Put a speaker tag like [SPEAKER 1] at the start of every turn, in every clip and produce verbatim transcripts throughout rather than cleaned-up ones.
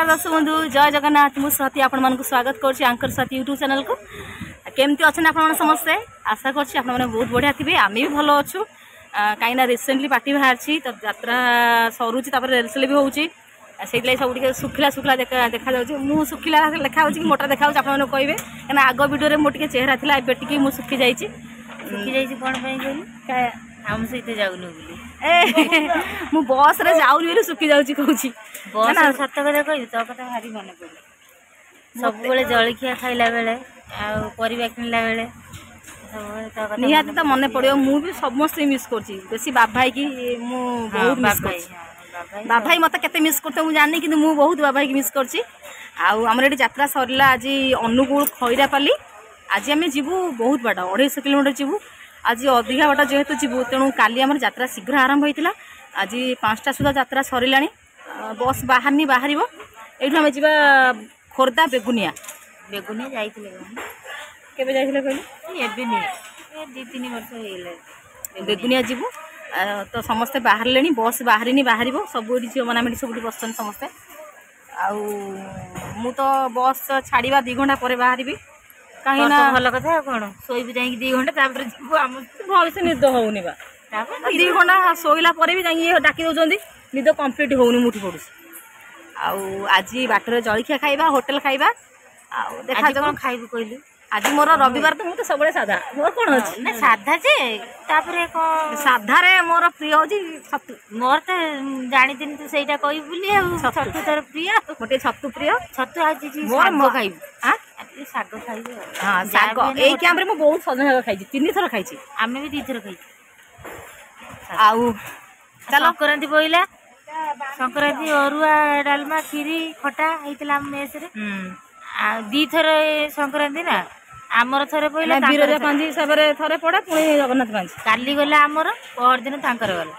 [SPEAKER 1] ନମସ୍କାର ଦର୍ଶକ ବନ୍ଧୁ, ଜୟ ଜଗନ୍ନାଥ। ମୁଁ ସ୍ୱାତି ଆପଣମାନଙ୍କୁ ସ୍ୱାଗତ କରୁଛି ଆଙ୍କର ସ୍ୱାତି ୟୁଟ୍ୟୁବ୍ ଚ୍ୟାନେଲକୁ। କେମିତି ଅଛନ୍ତି ଆପଣମାନେ ସମସ୍ତେ? ଆଶା କରୁଛି ଆପଣମାନେ ବହୁତ ବଢ଼ିଆ ଥିବେ। ଆମେ ବି ଭଲ ଅଛୁ, କାହିଁକିନା ରିସେଣ୍ଟଲି ପାର୍ଟି ବାହାରିଛି ତ, ଯାତ୍ରା ସରୁଛି, ତାପରେ ରିହର୍ସାଲ ବି ହେଉଛି। ସେଇଥିଲାଗି ସବୁ ଟିକେ ଶୁଖିଲା ଶୁଖିଲା ଦେଖା ଦେଖାଯାଉଛି। ମୁଁ ଶୁଖିଲା ଲେଖା ହେଉଛି କି ମୋଟା ଦେଖାଯାଉଛି, ଆପଣମାନେ କହିବେ, କାହିଁକିନା ଆଗ ଭିଡ଼ିଓରେ ମୋର ଟିକେ ଚେହେରା ଥିଲା, ଏବେ ଟିକେ ମୁଁ ଶୁଖି ଯାଇଛି।
[SPEAKER 2] ଶୁଖି ଯାଇଛି କ'ଣ ପାଇଁ କହିଲୁ? ଆମ ସହିତ ଯାଉନୁ ବୋଲି।
[SPEAKER 1] ଏ, ମୁଁ ବସ୍ରେ ଯାଉନି ବୋଲି ଶୁଖି ଯାଉଛି କହୁଛି।
[SPEAKER 2] ବସ୍, ସତ କଥା କହିବି, ତୋ କଥା ଭାରି ମନେ ପଡେ ସବୁବେଳେ, ଜଳଖିଆ ଖାଇଲା ବେଳେ ଆଉ ପରିବା କିଣିଲା ବେଳେ ସବୁବେଳେ ତୋ କଥା।
[SPEAKER 1] ନିହାତି ତ ମନେ ପଡ଼ିବ। ମୁଁ ବି ସମସ୍ତେ ମିସ୍ କରୁଛି, ବେଶୀ ବାବାଇକି ମୁଁ ବହୁତ ମିସ୍ କରୁଛି। ବାବାଇ ମୋତେ କେତେ ମିସ୍ କରୁଥିବ ମୁଁ ଜାଣିନି, କିନ୍ତୁ ମୁଁ ବହୁତ ବାବାଇକି ମିସ୍ କରୁଛି। ଆଉ ଆମର ଏଠି ଯାତ୍ରା ସରିଲା ଆଜି ଅନୁଗୁଳ ଖଇରାପାଲି। ଆଜି ଆମେ ଯିବୁ ବହୁତ ବାଟ, ଅଢ଼େଇଶହ କିଲୋମିଟର ଯିବୁ ଆଜି। ଅଧିକା ବାଟ ଯେହେତୁ ଯିବୁ, ତେଣୁ କାଲି ଆମର ଯାତ୍ରା ଶୀଘ୍ର ଆରମ୍ଭ ହୋଇଥିଲା। ଆଜି ପାଞ୍ଚଟା ସୁଦ୍ଧା ଯାତ୍ରା ସରିଲାଣି। ବସ୍ ବାହାରିନି, ବାହାରିବ। ଏଇଠୁ ଆମେ ଯିବା ଖୋର୍ଦ୍ଧା ବେଗୁନିଆ।
[SPEAKER 2] ବେଗୁନିଆ ଯାଇଥିଲେ?
[SPEAKER 1] କେବେ ଯାଇଥିଲେ କହିଲେ?
[SPEAKER 2] ଏବେ ନୁହେଁ, ଦୁଇ ତିନି ବର୍ଷ ହେଇଗଲାଣି।
[SPEAKER 1] ବେଗୁନିଆ ଯିବୁ ତ, ସମସ୍ତେ ବାହାରିଲେଣି। ବସ୍ ବାହାରିନି, ବାହାରିବ। ସବୁ ଏଠି ଝିଅମାନେ ଆମେ ଏଠି ସବୁଠି ବସିଛନ୍ତି ସମସ୍ତେ। ଆଉ ମୁଁ ତ ବସ୍ ଛାଡ଼ିବା ଦୁଇ ଘଣ୍ଟା ପରେ ବାହାରିବି।
[SPEAKER 2] କାହିଁକି ନା ଭଲ କଥା, ଆଉ କ'ଣ ଶୋଇବୁ ଯାଇକି ଦୁଇ ଘଣ୍ଟା, ତାପରେ ଯିବୁ। ଆମ
[SPEAKER 1] ଭଲସେ ନିଦ ହଉନି ବା। ଦୁଇ ଘଣ୍ଟା ଶୋଇଲା ପରେ ବି ଯାଇକି ଡାକି ଦେଉଛନ୍ତି, ନିଦ କମ୍ପ୍ଲିଟ୍ ହଉନି, ମୁଁ ଉଠି ପଡ଼ୁଛି। ଆଉ ଆଜି ବାଟରେ ଜଳଖିଆ ଖାଇବା, ହୋଟେଲ ଖାଇବା, ଆଉ
[SPEAKER 2] ଦେଖାଯାଉ। କ'ଣ ଖାଇବୁ କହିଲୁ?
[SPEAKER 1] ଆଜି ମୋର ରବିବାର ତ, ମୁଁ ତ ସବୁବେଳେ ସାଧା, ମୋର କ'ଣ ଅଛି?
[SPEAKER 2] ନା, ସାଧା ଯେ, ତାପରେ କ'ଣ?
[SPEAKER 1] ସାଧାରେ ମୋର ପ୍ରିୟ ହେଉଛି ଛତୁ।
[SPEAKER 2] ମୋର ତ ଜାଣିଥିଲି ତୁ ସେଇଟା କହିବୁ ବୋଲି। ଆଉ ଛତୁ ତୋର ପ୍ରିୟ?
[SPEAKER 1] ମୋର ଟିକେ ଛତୁ ପ୍ରିୟ।
[SPEAKER 2] ଛତୁ ଆଜି ମୋର ଖାଇବୁ? ଶାଗ ଖାଇବୁ?
[SPEAKER 1] ହଁ, ଶାଗ। ଏଇ କ୍ୟାମ୍ପରେ ମୁଁ ବହୁତ ସଜନା ଶାଗ ଖାଇଛି, ତିନି ଥର ଖାଇଛି।
[SPEAKER 2] ଆମେ ବି ଦୁଇ ଥର ଖାଇଛୁ।
[SPEAKER 1] ଆଉ
[SPEAKER 2] ଚାଲ, ସଂକ୍ରାନ୍ତି ପଇଲା, ସଂକ୍ରାନ୍ତି ଅରୁଆ ଡାଲମା କ୍ଷୀରି ଖଟା ହେଇଥିଲା ଆମ ମେସରେ। ଆଉ ଦିଥର ସଂକ୍ରାନ୍ତି ନା, ଆମର ଥରେ ପଇଲା।
[SPEAKER 1] ବିରଜା ପାଞ୍ଜି ହିସାବରେ ଥରେ ପଡେ, ପୁଣି ଜଗନ୍ନାଥ ପାଞ୍ଜି।
[SPEAKER 2] କାଲି ଗଲା ଆମର, ପହର ଦିନ ତାଙ୍କର ଗଲା,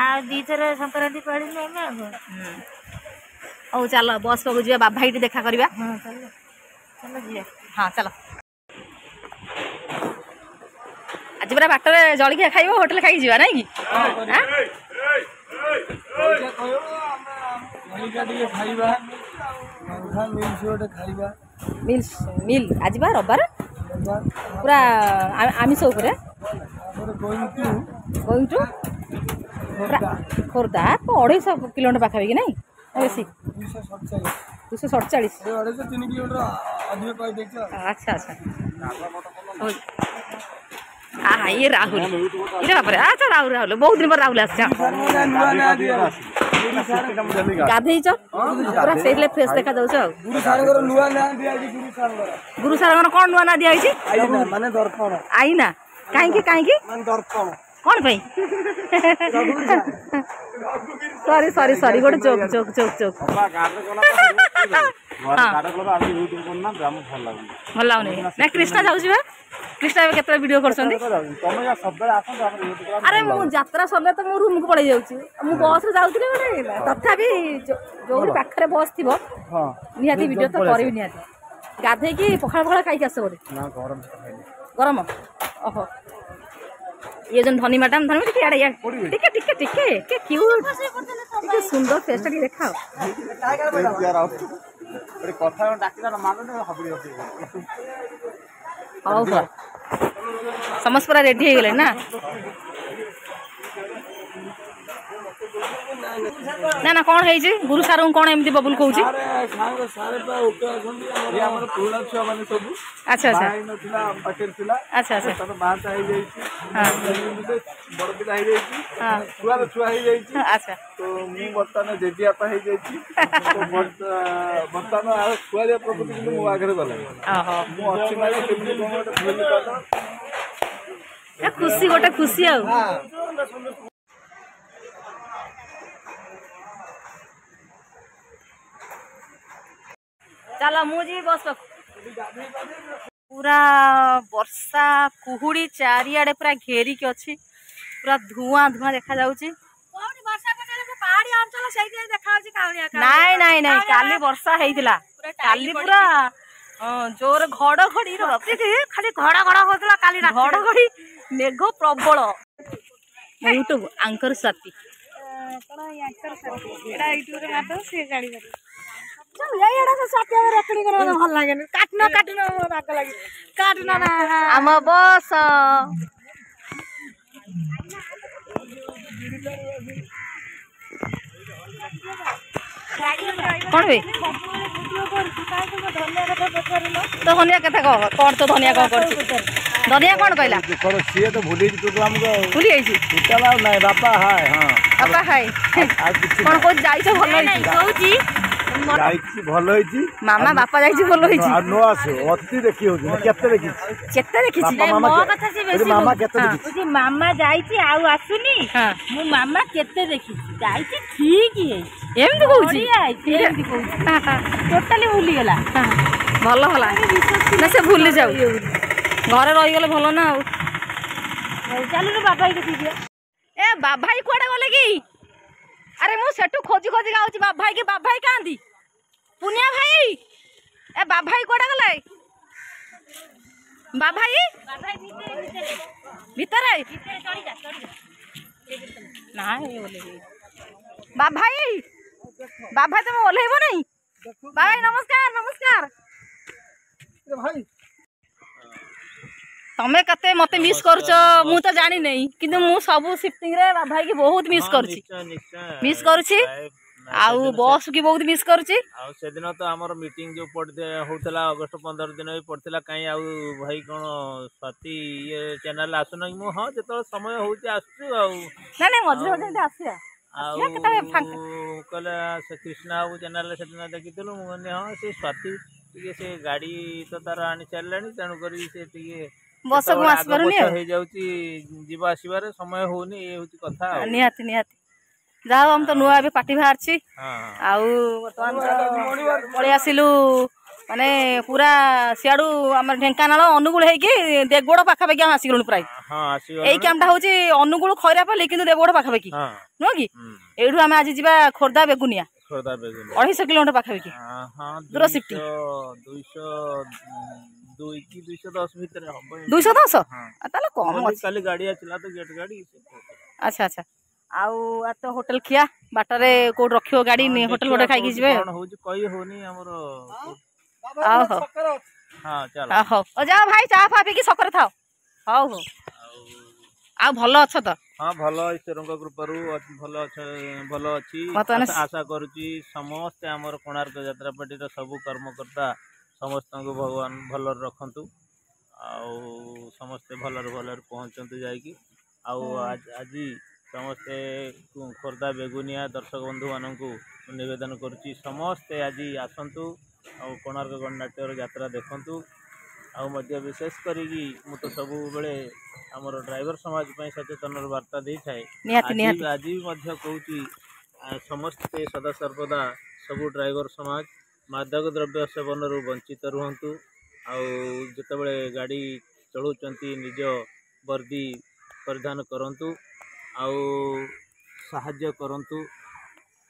[SPEAKER 2] ଆଉ ଦିଥର ସଂକ୍ରାନ୍ତି ପାଳିଲୁ ଆମେ। ଆଉ
[SPEAKER 1] ହଉ ଚାଲ, ବସ୍ ପାଖକୁ ଯିବା, ବାବା ଭାଇଟି ଦେଖା କରିବା।
[SPEAKER 2] ହଁ, ଚାଲ ଚାଲ ଯିବା।
[SPEAKER 1] ହଁ, ଚାଲ। ଆଜି ପୁରା ବାଟରେ ଜଳଖିଆ ଖାଇବ, ହୋଟେଲ ଖାଇକି ଯିବା, ନାଇଁ କି?
[SPEAKER 3] ଖାଇବା ଖାଇବା
[SPEAKER 1] ମିଲ୍ସ ମିଲ୍। ଆଜି ବା ରବିବାର, ପୁରା ଆମିଷ ଉପରେ। Going to Khordha, ଅଢ଼େଇଶହ କିଲୋମିଟର ପାଖାପାଖି, ନାଇଁ ବେଶୀ? ଦୁଇଶହ ସଡ଼ଚାଳିଶ। ଆଚ୍ଛା ଆଚ୍ଛା। ଆହା, ଇଏ ରାହୁଲ, ଇରେ ବାପରେ। ଆଚ୍ଛା ରାହୁଲ, ରାହୁଲ, ବହୁତ ଦିନ ପରେ ରାହୁଲ ଆସିଛ। ଗାଧେଇଛ ପୁରା, ସେଇଥିଲେ ଫ୍ରେଶ ଦେଖାଯାଉଛ। ଆଉ ଗୁରୁ ସାରଙ୍କର କ'ଣ ନୂଆ ନାଁ ଦିଆହେଇଛି?
[SPEAKER 3] ମାନେ ଦର୍ପଣ।
[SPEAKER 1] ଆଇନା? କାହିଁକି କାହିଁକି, କ'ଣ ପାଇଁ? ସରି ସରି ସରି, ଗୋଟେ ଜୋକ୍ ଜୋକ୍ ଜୋକ୍ ଜୋକ୍। ଭଲ ଲାଗୁନି ନା? କୃଷ୍ଣା ଯାଉଛି ବା, କୃଷ୍ଣା ଏବେ କେତେବେଳେ ଭିଡ଼ିଓ କରୁଛନ୍ତି। ଆରେ ମୁଁ ଯାତ୍ରା ସରିଲେ ତ ମୁଁ ରୁମକୁ ପଳେଇ ଯାଉଛି। ମୁଁ ବସ୍ରେ ଯାଉଥିଲି ଗୋଟେ, ତଥାପି ଯୋଉଠି ପାଖରେ ବସ୍ ଥିବ ନିହାତି ଭିଡ଼ିଓ ତ କରିବି ନିହାତି। ଗାଧେଇକି ପଖାଳ ପଖାଳ ଖାଇକି ଆସ ବୋଧେ? ଗରମ। ଓହୋ, ଇଏ ଜଣେ ଧନୀ ମ୍ୟାଡ଼ାମ। ଧନୀ, ଟିକେ ଇଆଡ଼େ ଇଆଡ଼େ, ଟିକେ ଟିକେ ଟିକେ ଟିକେ, କ୍ୟୁଟ୍, ଟିକେ ସୁନ୍ଦର ଫେସ୍ଟା ଟିକେ ଦେଖାଅ। ହଉ ହଉ, ସମସ୍ତେ ପୁରା ରେଡି ହେଇଗଲେ ନା? ନା ନା, କ'ଣ ହେଇଛି ଗୁରୁ ସାରଙ୍କୁ? କ'ଣ ଏମିତି ବବୁଲ କହୁଛି? ଆଚ୍ଛା ଆଚ୍ଛା ଆଚ୍ଛା ଆଚ୍ଛା।
[SPEAKER 3] ବଡ ପିଲା ହେଇଯାଇଛି, ଛୁଆର ଛୁଆ ହେଇଯାଇଛି।
[SPEAKER 1] ଆଚ୍ଛା,
[SPEAKER 3] ତ ମୁଁ ବର୍ତ୍ତମାନ ଜେଜେବାପା ହେଇଯାଇଛି। ବର୍ତ୍ତମାନ ଆଉ ଛୁଆଳିଆ ପ୍ରକୃତି କିନ୍ତୁ ମୋ ଆଗରେ ଗଲାଣି। ମୁଁ ଅଛି ମାନେ କେମିତି କ'ଣ ଗୋଟେ ଭୁଲ।
[SPEAKER 1] ଖୁସି, ଗୋଟେ ଖୁସି। ଆଉ ଚାଲ, ମୁଁ ଯିବି ବସ୍ ପାଖକୁ। ପୁରା ବର୍ଷା କୁହୁଡ଼ି ଚାରିଆଡ଼େ ପୁରା ଘେରିକି ଅଛି, ପୁରା ଧୂଆଁ ଧୂଆଁ ଦେଖାଯାଉଛି। ନାଇଁ ନାଇଁ ନାଇଁ, କାଲି ବର୍ଷା ହେଇଥିଲା, କାଲି ପୁରା ଜୋର ଘଡଘଡି,
[SPEAKER 2] ଖାଲି ଘଡ ଘଡ ହଉଥିଲା କାଲି।
[SPEAKER 1] ଘଡଘଡି ମେଘ ପ୍ରବଳ। ୟୁଟ୍ୟୁବ ଆଙ୍କର ସ୍ୱାତି।
[SPEAKER 4] ଏଇଟା ୟୁଟ୍ୟୁବରେ ମାରିଦେବ, ସିଏ ଜାଣିପାରିବ।
[SPEAKER 2] ଭଲ ଲାଗେନି କାଟୁନ କାଟୁନ ରାଗ ଲାଗେ କାଟୁନ ନା
[SPEAKER 1] ଆମ ବସ କଣ ହୁଏ ତ ଧନିଆ କଥା କହ କଣ ତ ଧନିଆ କଣ କରୁଛି ଧନିଆ କଣ କହିଲା
[SPEAKER 3] ସିଏ ତ ଭୁଲି
[SPEAKER 1] ଭୁଲି ଯାଇଛି
[SPEAKER 3] ଟୋଟାଲ ଆଉ ନାଇଁ ବାପା ହାଏ ହଁ
[SPEAKER 1] ବାପା ହାଏ କଣ କହୁଛି ଯାଇଛ ଭଲ ହେଇଛି
[SPEAKER 2] କହୁଛି
[SPEAKER 3] ଯାଇଛି ଭଲ ହେଇଛି
[SPEAKER 1] ମାମା ବାପା ଯାଇଛି ଭଲ ହେଇଛି
[SPEAKER 3] ଆଉ ନ ଆସୁ ଅତି ଦେଖି ହଉଛି କେତେ ଦେଖିଛି
[SPEAKER 1] କେତେ ଦେଖିଛି
[SPEAKER 2] ମୋ କଥା ସେ ବେଶୀ
[SPEAKER 3] ମାମା କେତେ ଦେଖିଛି
[SPEAKER 2] ମାମା ଯାଇଛି ଆଉ ଆସୁନି ମୁଁ ମାମା କେତେ ଦେଖିଛି ଯାଇଛି ଠିକ ହେଇଛି
[SPEAKER 1] ଏମିତି କହୁଛି
[SPEAKER 2] ଏମିତି କହୁଛି ଟୋଟାଲି ଭୁଲିଗଲା
[SPEAKER 1] ଭଲ ହେଲା ନା ସେ ଭୁଲି ଯାଉ ଘରେ ରହିଗଲେ ଭଲ ନା ଆଉ
[SPEAKER 2] ଚାଲୁନୁ ବାବା ଭାଇ
[SPEAKER 1] ଏ ବାବା ଭାଇ କୁଆଡେ ଗଲେ କି ଆରେ ମୁଁ ସେଠୁ ଖୋଜି ଖୋଜି ଗାଉଛି ବାବା ଭାଇ କି ବାବା ଭାଇ କାହାନ୍ତି ପୁନିଆ ଭାଇ ଏ ବାବା ଭାଇ କୁଆଡେ ଗଲେ ବାବା ଭାଇ ଭିତରେ ନା ବାବା ଭାଇ ବାବା ଭାଇ ତମେ ଓହ୍ଲେଇବ ନାଇଁ ବାବା ଭାଇ ନମସ୍କାର ନମସ୍କାର
[SPEAKER 3] ଭାଇ
[SPEAKER 1] ତମେ କେତେ ମତେ ମିସ୍ କରୁଛ ମୁଁ ତ ଜାଣିନେଇ କିନ୍ତୁ ମୁଁ ସବୁ ସିଫ୍ଟିଂରେ ବାବା ଭାଇକି ବହୁତ ମିସ୍ କରୁଛି ମିସ୍ କରୁଛି ଆଉ ବସ୍ କି ବହୁତ ମିସ୍ କରୁଛି
[SPEAKER 4] ଆଉ ସେଦିନ ତ ଆମର ମିଟିଂ ଯୋଉ ପଡି ହଉଥିଲା ଅଗଷ୍ଟ ପନ୍ଦର ଦିନ ବି ପଡିଥିଲା କାହିଁ ଆଉ ଭାଇ କଣ ସ୍ୱାତି ଇଏ ଚ୍ୟାନେଲ ଆସୁନ କି ମୁଁ ହଁ ଯେତେବେଳେ ସମୟ ହଉଛି ଆସୁଛୁ ଆଉ
[SPEAKER 1] ନାଇଁ ନାଇଁ ମଝିରେ ମଝିରେ ଏମିତି ଆସିବା
[SPEAKER 4] ଆଉ କହିଲେ ସେ କୃଷ୍ଣା ବାବୁ ଚ୍ୟାନେଲରେ ସେଦିନ ଦେଖିଥିଲୁ ମୁଁ କହିଲି ହଁ ସେ ସ୍ୱାତି ଟିକେ ସେ ଗାଡି ତ ତାର ଆଣି ସାରିଲାଣି ତେଣୁକରି ସେ ଟିକେ
[SPEAKER 1] ବସକୁ ଆସିପାରୁନି ଆଉ
[SPEAKER 4] ହେଇଯାଉଛି ଯିବା ଆସିବାରେ ସମୟ ହଉନି ଇଏ ହଉଛି କଥା ଆଉ
[SPEAKER 1] ନିହାତି ନିହାତି ଯାହା ହଉ ଆମେ ତ ନୂଆ ଏବେ ପାର୍ଟି ବାହାରିଛି ଆଉ ବର୍ତ୍ତମାନ ପଳେଇ ଆସିଲୁ ମାନେ ପୁରା ସିଆଡୁ ଆମର ଢେଙ୍କାନାଳ ଅନୁଗୁଳ ହେଇକି ଦେବଗଡ଼ ପାଖାପାଖି ଆମେ ଆସିଗଲୁଣି ପ୍ରାୟ ଏଇ କ୍ୟାମ୍ପଟା ହଉଛି ଅନୁଗୁଳ ଖଇରାପାଲି କିନ୍ତୁ ଦେବଗଡ଼ ପାଖାପାଖି ନୁହଁ କି ଏଇଠୁ ଆମେ ଆଜି ଯିବା ଖୋର୍ଦ୍ଧା ବେଗୁନିଆ ଅଢେଇଶହ କିଲୋମିଟର ପାଖାପାଖି ଦୂର ସିଫ୍ଟିଂ
[SPEAKER 4] ଦୁଇ କି ଦୁଇଶହ ଦଶ ଭିତରେ ହବ
[SPEAKER 1] ଦୁଇଶହ ଦଶ ତାହେଲେ କମ ଅଛି
[SPEAKER 4] କାଲି ଗାଡି ଆସିଲା ତ ଗେଟ୍ ଗାଡି
[SPEAKER 1] ଆଚ୍ଛା ଆଚ୍ଛା ଆଉ ଆ ତ ହୋଟେଲ ଖିଆ ବାଟରେ କୋଉଠି ରଖିବ ଗାଡି ହୋଟେଲ ଗୋଟେ ଖାଇକି ଯିବେ
[SPEAKER 4] କଣ ହଉଛି କହି ହଉନି ଆମର
[SPEAKER 1] ହଉ ହଉ
[SPEAKER 4] ହଁ ଚାଲ
[SPEAKER 1] ହଉ ଯାଅ ଭାଇ ଚା ଫା ପିଇକି ସକରେ ଥାଅ ହଉ ହଉ ଆଉ ଭଲ ଅଛ ତ
[SPEAKER 4] ହଁ ଭଲ ଈଶ୍ୱରଙ୍କ କୃପାରୁ ଭଲ ଅଛ ଭଲ ଅଛି ଆଶା କରୁଛି ସମସ୍ତେ ଆମର କୋଣାର୍କ ଯାତ୍ରା ପାର୍ଟିର ସବୁ କର୍ମକର୍ତ୍ତା ସମସ୍ତଙ୍କୁ ଭଗବାନ ଭଲରେ ରଖନ୍ତୁ ଆଉ ସମସ୍ତେ ଭଲରେ ଭଲରେ ପହଞ୍ଚନ୍ତୁ ଯାଇକି ଆଉ ଆଜି ସମସ୍ତେ ଖୋର୍ଦ୍ଧା ବେଗୁନିଆ ଦର୍ଶକ ବନ୍ଧୁମାନଙ୍କୁ ନିବେଦନ କରୁଛି ସମସ୍ତେ ଆଜି ଆସନ୍ତୁ ଆଉ କୋଣାର୍କ ଗଣନାଟ୍ୟର ଯାତ୍ରା ଦେଖନ୍ତୁ ଆଉ ମଧ୍ୟ ବିଶେଷ କରିକି ମୁଁ ତ ସବୁବେଳେ ଆମର ଡ୍ରାଇଭର ସମାଜ ପାଇଁ ସଚେତନର ବାର୍ତ୍ତା ଦେଇଥାଏ ଆଜି ଆଜି ବି ମଧ୍ୟ କହୁଛି ସମସ୍ତେ ସଦାସର୍ବଦା ସବୁ ଡ୍ରାଇଭର ସମାଜ ମାଦକ ଦ୍ରବ୍ୟ ସେବନରୁ ବଞ୍ଚିତ ରୁହନ୍ତୁ ଆଉ ଯେତେବେଳେ ଗାଡ଼ି ଚଳାଉଛନ୍ତି ନିଜ ବର୍ଦ୍ଦି ପରିଧାନ କରନ୍ତୁ ଆଉ ସାହାଯ୍ୟ କରନ୍ତୁ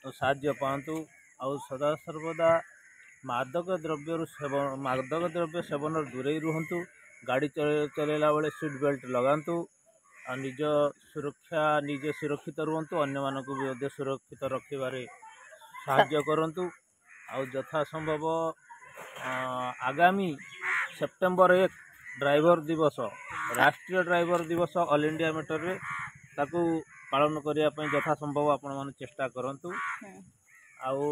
[SPEAKER 4] ଆଉ ସାହାଯ୍ୟ ପାଆନ୍ତୁ ଆଉ ସଦାସର୍ବଦା ମାଦକ ଦ୍ରବ୍ୟରୁ ସେବନ ମାଦକ ଦ୍ରବ୍ୟ ସେବନରୁ ଦୂରେଇ ରୁହନ୍ତୁ ଗାଡ଼ି ଚଲାଇଲା ବେଳେ ସିଟ୍ ବେଲ୍ଟ ଲଗାନ୍ତୁ ଆଉ ନିଜ ସୁରକ୍ଷା ନିଜେ ସୁରକ୍ଷିତ ରୁହନ୍ତୁ ଅନ୍ୟମାନଙ୍କୁ ବି ମଧ୍ୟ ସୁରକ୍ଷିତ ରଖିବାରେ ସାହାଯ୍ୟ କରନ୍ତୁ ଆଉ ଯଥା ସମ୍ଭବ ଆଗାମୀ ସେପ୍ଟେମ୍ବର ଏକ ଡ୍ରାଇଭର ଦିବସ ରାଷ୍ଟ୍ରୀୟ ଡ୍ରାଇଭର ଦିବସ ଅଲ୍ ଇଣ୍ଡିଆ ମ୍ୟାଟରରେ ତାକୁ ପାଳନ କରିବା ପାଇଁ ଯଥା ସମ୍ଭବ ଆପଣମାନେ ଚେଷ୍ଟା କରନ୍ତୁ ଆଉ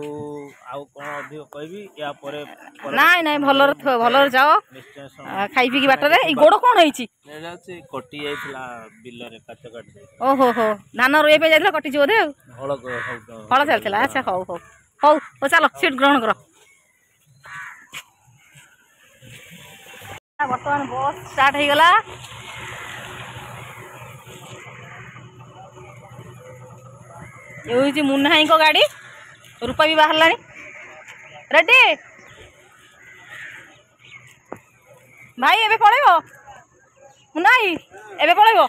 [SPEAKER 4] ଆଉ କ'ଣ ଅଧିକ କହିବି ୟା ପରେ
[SPEAKER 1] ନାଇଁ ନାଇଁ ଭଲରେ ଭଲରେ ଯାଅ ଖାଇ ପିଇକି ବାଟରେ ଏଇ ଗୋଡ଼ କ'ଣ ହେଇଛି
[SPEAKER 4] କଟି ଯାଇଥିଲା ବିଲରେ କାଚ କାଟି
[SPEAKER 1] ଓହୋ ହୋ ଧାନ ରୋଇବା ପାଇଁ ଯାଇଥିଲା କଟିଛି ବୋଧେ ଆଉ
[SPEAKER 4] ହଳ
[SPEAKER 1] ହଳ ଚାଲିଥିଲା ଆଚ୍ଛା ହଉ ହଉ ହଉ ହଉ ଚାଲ ସିଟ୍ ଗ୍ରହଣ କର ବର୍ତ୍ତମାନ ବସ୍ ଷ୍ଟାର୍ଟ ହେଇଗଲା ଏ ହେଉଛି ମୁନ୍ନା ଭାଇଙ୍କ ଗାଡ଼ି ରୂପା ବି ବାହାରିଲାଣି ରେଡି ଭାଇ ଏବେ ପଳେଇବ ମୁନ୍ନା ଭାଇ ଏବେ ପଳେଇବ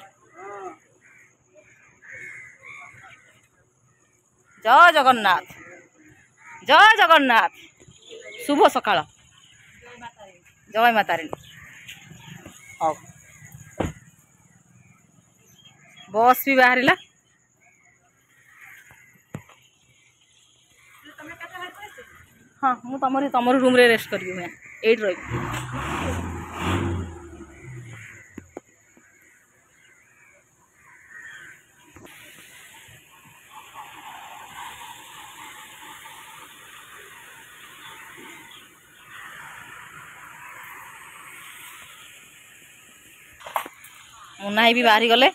[SPEAKER 1] ଜୟ ଜଗନ୍ନାଥ ଜୟ ଜଗନ୍ନାଥ ଶୁଭ ସକାଳ ଜୟ ମା ତାରିଣୀ ହଉ ବସ୍ ବି ବାହାରିଲା ହଁ, ମୁଁ ତମରି ତମର ରୁମ୍ରେ ରେଷ୍ଟ କରିବି। ମୁଁ ଏଇଠି ରହିବି। ମୁନା ଭାଇ ବି ବାହାରି ଗଲେ।